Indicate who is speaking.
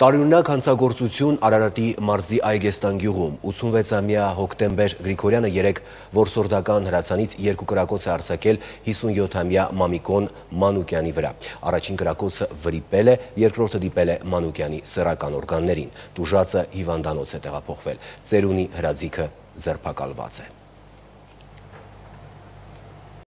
Speaker 1: Տարօրինակ հանցագործություն Արարատի մարզի Այգեստան գյուղում 86-ամյա Հոկտեմբեր Գրիգորյանը երեկ որսորդական հրացանից 2 կրակոց է արձակել 57-ամյա Մամիկոն Մանուկյանի վրա։ Առաջին կրակոցը վրիպել է, երկրորդը դիպել է Մանուկյանի սեռական օրգաններին։ Տուժածը հիվանդանոց է տեղափոխվել։ Ծերունի հրաձիգը ձերբակալված է։